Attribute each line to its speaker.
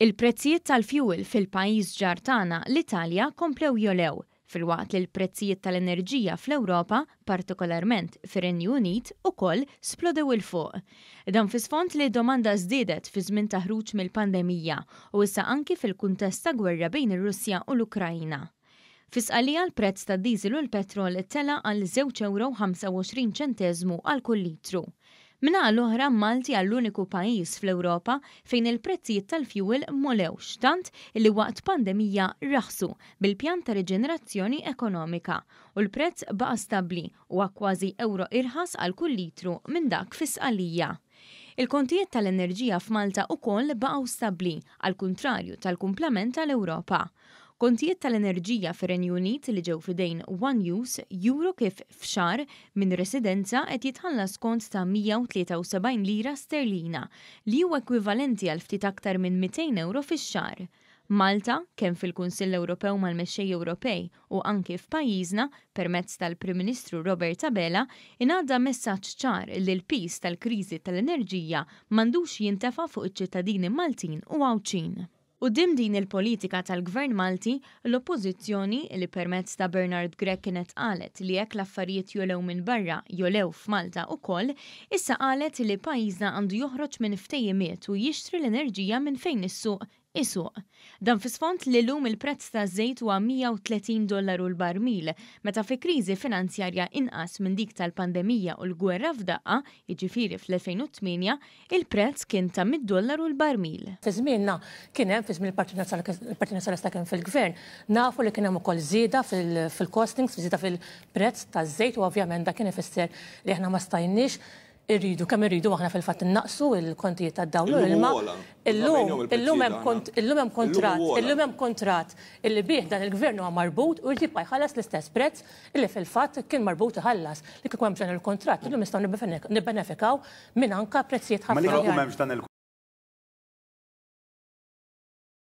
Speaker 1: Il-prezzijiet tal-fjuwil fil-pajjiż ġar tagħna, l-Italja, komplew jogħlew, filwaqt li l-prezzijiet tal-enerġija fl-Ewropa, partikolarment fir-Renju Unit, ukoll splodew 'il fuq. Dan fi sfond li d-domanda żdiedet fi żmien ta' ħruġ mill-pandemija u issa anki fil-kuntest ta' gwerra bejn ir-Russja u l-Ukraina. Fi Sqallija l-prezz tad-diesel u l-petrol tela' għal żewġ ewro u 25 ċenteżmu għal kull litru. Min-naħa l-oħra Malti hija l-uniku pajjiż fl-Ewropa fejn il-prezzijiet tal-fjuwil m'għolewx tant illi waqt pandemija raħsu bil-pjan ta' riġenerazzjoni ekonomika u l-prezz baqa' stabbli u kważi ewro irħas għal kull litru minn dak fi Sqallija. Il-kontijiet tal-enerġija f'Malta ukoll baqgħu stabbli għall-kuntrarju tal-kumplament tal-Ewropa. Kontijiet tal-enerġija fir-Renju Unit li ġew f'idejn One News juru kif f'xahar minn residenza qed jitħallas kont ta' 173 lira sterlina li huwa ekwivalenti għal ftit aktar minn 200 ewro fix-xahar. Malta, kemm fil-Kunsill Ewropew mal-mexxej Ewropej u anki f'pajjiżna permezz tal-Prim Ministru Robert Abela, ingħadda messaġġ ċar li l-piż tal-kriżi tal-enerġija m'għandux jintefa' fuq iċ-ċittadini Maltin u Għawdxin. Quddiem din il-politika tal-Gvern Malti, l-Oppożizzjoni, li permezz ta' Bernard Grech kienet qalet li jekk l-affarijiet jogħlew minn barra jogħlew f'Malta ukoll, issa qalet li pajjiżna għandu joħroġ minn ftehimiet u jixtri l-enerġija minn fejn is-suq isuq. Dan fi sfond li llum il-prezz taż-żejt huwa 130 dollaru l-barmil, meta fi kriżi finanzjarja inqas minn dik tal-pandemija u l-gwerra f'daqqa, jiġifieri fl-2008, il-prezz kien ta' 100 dollaru l-barmil.
Speaker 2: Fi żmienna kien hemm, fi żmien il-Partit Nazzjonalista kien fil-Gvern, nafu li kien hemm ukoll żieda fil-costings, żieda fil-prezz taż-żejt u ovvjament dak kien ifisser li aħna ma stajniex irridu kemm irridu aħna fil-fatt innaqsu l-kontijiet tad-dawl u l-ilma. Illum illum hemm illum hemm kuntratt, illum hemm kuntratt illi bih dan il-Gvern huwa marbut u jrid jibqa' jħallas l-istess prezz illi fil-fatt kien marbut iħallas. Li kieku hemm dan il-kuntratt illum nistgħu nibbenefikaw minn anka prezzijiet ħafna.
Speaker 3: Ma li kieku m'hemmx dan il.